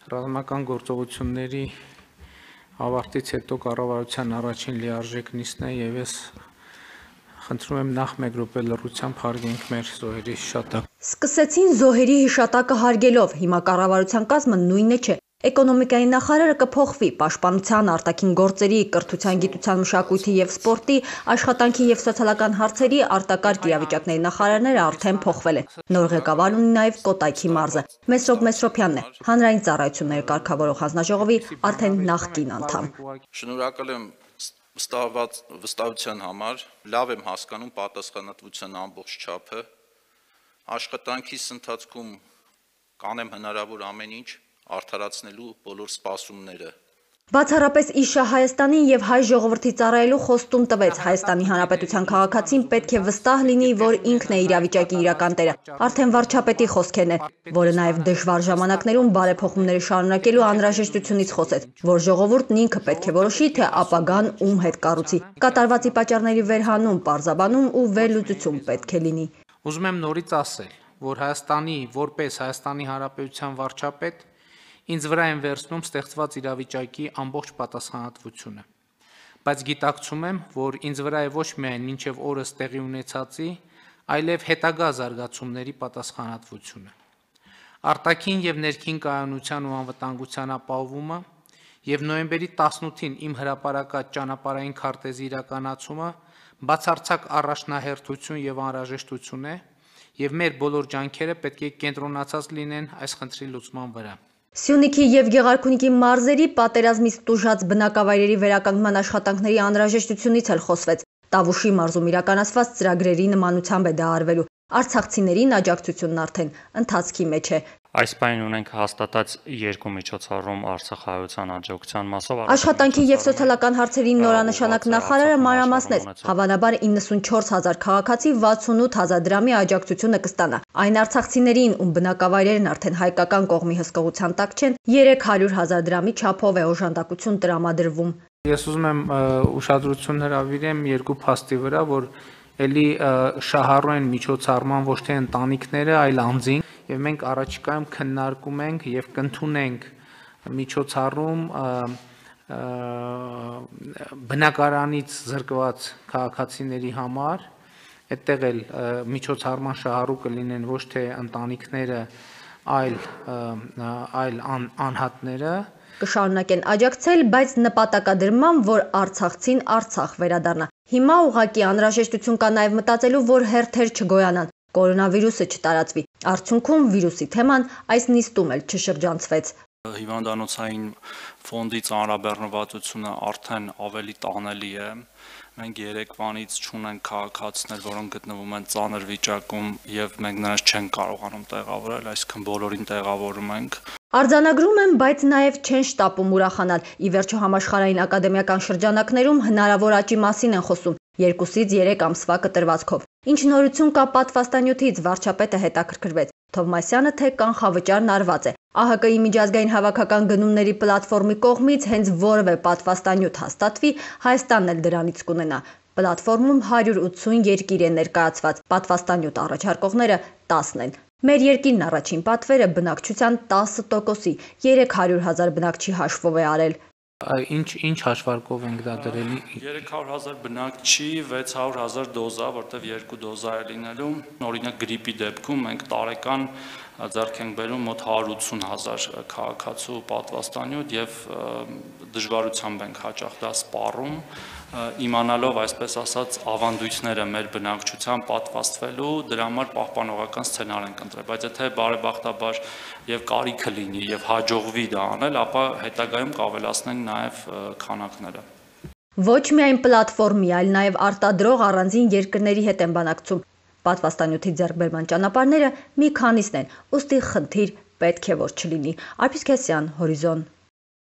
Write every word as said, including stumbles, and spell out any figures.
Ռազմական գործողությունների ավարտից հետո կառավարության առաջին լիարժեք նիստն է եւ ես խնդրում եմ նախ մեկ րոպե լռությամբ հարգենք մեր զոհերի հիշատակը։ Սկսեցին զոհերի հիշատակը հարգելով, հիմա կառավարության կազմը նույնը չէ։ Էկոնոմիկայի նախարարը կփոխվի, պաշտպանության, արտաքին գործերի, կրթության, գիտության, մշակույթի եւ սպորտի, աշխատանքի եւ սոցիալական հարցերի արտակարգ իրավիճակների նախարարները արդեն փոխվել են։ Նոր ղեկավար ունի նաեւ Կոտայքի մարզը։ Մեսրոպ Մեսրոպյանն է, հանրային ծառայությունների կարգավորող հանձնաժողովի արդեն նախկին անդամ։ Շնորհակալ եմ վստահված վստահության համար, լավ եմ հասկանում պատասխանատվության ամբողջ չափը, աշխատանքիս ընթացքում կանեմ հնարավոր ամեն ինչ արդարացնելու բոլոր սպասումները։ Բացառապես իշա Հայաստանին եւ հայ ժողովրդի ծառայելու խոստում տվեց Հայաստանի Հանրապետության քաղաքացին պետք է վստահ լինի, որ ինքն է իրավիճակի իրական տերը։ Արդեն վարչապետի խոսքերն են, որը նաեւ դժվար ժամանակներում բարեփոխումները շարունակելու անհրաժեշտությունից խոսեց, որ ժողովուրդն ինքը պետք է որոշի, թե ապագան ում հետ կառուցի։ Կատարվածի պատճառների վերհանում, պարզաբանում ու վերլուծություն պետք է լինի։ Ուզում եմ նորից ասել, որ Հայաստանի որպես Հայաստանի Հանրապետության վարչապետ ինձ վրա են վերցնում ստեղծված իրավիճակի ամբողջ պատասխանատվությունը, բայց գիտակցում եմ, որ ինձ վրա է ոչ միայն մինչև օրս տեղի ունեցածի, այլև հետագա զարգացումների պատասխանատվությունը։ Արտաքին եւ ներքին կայունության ու անվտանգության ապահովումը եւ նոյեմբերի տասնութին իմ հրապարակած ճանապարհային քարտեզի իրականացումը բացարձակ առաջնահերթություն եւ անհրաժեշտություն է, եւ մեր բոլոր ջանքերը պետք է կենտրոնացած լինեն այս խնդրի լուծման վրա։ Սյունիքի եւ Գեղարքունիքի մարզերի պատերազմից տուժած բնակավայրերի վերականգնման աշխատանքների անհրաժեշտությունից էլ խոսվեց։ Տավուշի մարզում իրականացված ծրագրերի նմանությամբ է դա արվելու։ Արցախցիներին աջակցությունն արդեն ընթացքի մեջ է։ Այս պայն ունենք հաստատած երկու միջոցառում Արցախահայության աջակցության մասով։ Աշխատանքի եւ սոցիալական հարցերի նորանշանակ նախարարը մանրամասնեց, հավանաբար իննսունչորս հազար քաղաքացի վաթսունութ հազար դրամի աջակցությունը կստանա։ Այն արցախցիներին, ում բնակավայրերն արդեն հայկական կողմի հսկողության տակ չեն, երեք հարյուր հազար դրամի չափով է օժանդակություն տրամադրվում։ Ես ուզում եմ ուշադրություն հրավիրեմ երկու փաստի վրա, որ էլի շահառու են միջոցառման ոչ թե ընտանիքները, այլ անձին, եւ մենք առաջիկայում քննարկում ենք եւ կընդունենք միջոցառում բնակարանից զրկված քաղաքացիների համար, այդտեղ էլ միջոցառման շահառու կլինեն ոչ թե ընտանիքները, այլ այլ անհատները։ Կշարունակեն աջակցել, բայց նպատակադրման, որ Արցախցին Արցախ վերադառնա։ Հիմա ուղղակի անհրաժեշտություն կա նաև մտածելու, որ հերթեր չգոյանան, կորոնավիրուսը չտարածվի։ Արդյունքում վիրուսի թեման այս նիստում էլ չշրջանցվեց։ Հիվանդանոցային ֆոնդի ծանրաբեռնվածությունը արդեն ավելի տանելի է։ Մենք երեկվանից չունենք քաղաքացիներ, որոնք գտնվում են ծանր վիճակում եւ մենք նրանց չենք կարողանում տեղավորել, այսինքն բոլորին տեղավորում ենք։ Արձանագրում են, բայց նաև չեն շտապում ուրախանալ։ Ի վերջո համաշխարհային ակադեմիական շրջանակներում հնարավոր աճի մասին են խոսում երկուսից երեք ամսվա կտրվածքով։ Ինչ նորություն կա պատվաստանյութից, վարչապետը հետաքրքրվեց։ Թովմասյանը թե կանխավճարն արված է։ ԱՀԿ-ի միջազգային հավաքական գնումների պլատֆորմի կողմից հենց որևէ պատվաստանյութ հաստատվի, Հայաստանն էլ դրանից կունենա։ Պլատֆորմում հարյուր ութսուն երկիր է ներկայացված, պատվաստանյութ առաջարկողները տասն են։ Մեր երկիրն առաջին պատվերը բնակչության տասը տոկոսի երեք հարյուր հազար բնակչի հաշվով է արել։ Ինչ ինչ հաշվարկով ենք դա դրել։ երեք հարյուր հազար բնակչի վեց հարյուր հազար դոզա, որտեղ երկու դոզա է լինելու։ Օրինակ գրիպի դեպքում մենք տարեկան ձեռք ենք բերում մոտ հարյուր ութսուն հազար քաղաքացու պատվաստանյութ եւ դժվարությամբ ենք հաճախ դա սպառում, իմանալով այսպես ասած ավանդույթները մեր բնակչության պատվաստվելու, դրա համար պահպանողական սցենար ենք ընտրել, բայց եթե բարեբախտաբար եւ կարիքը լինի եւ հաջողվի դա անել, ապա հետագայում կավելացնենք նաեւ քանակները։ Ոչ միայն պլատֆորմի, այլ նաեւ արտադրող առանձին երկրների հետ են բանակցում։ Պատվաստանյութի ձեռքբերման ճանապարհները մի քանիսն են, ուստի խնդիր պետք է որ չլինի։ Արփիս Քեսյան, Հորիզոն։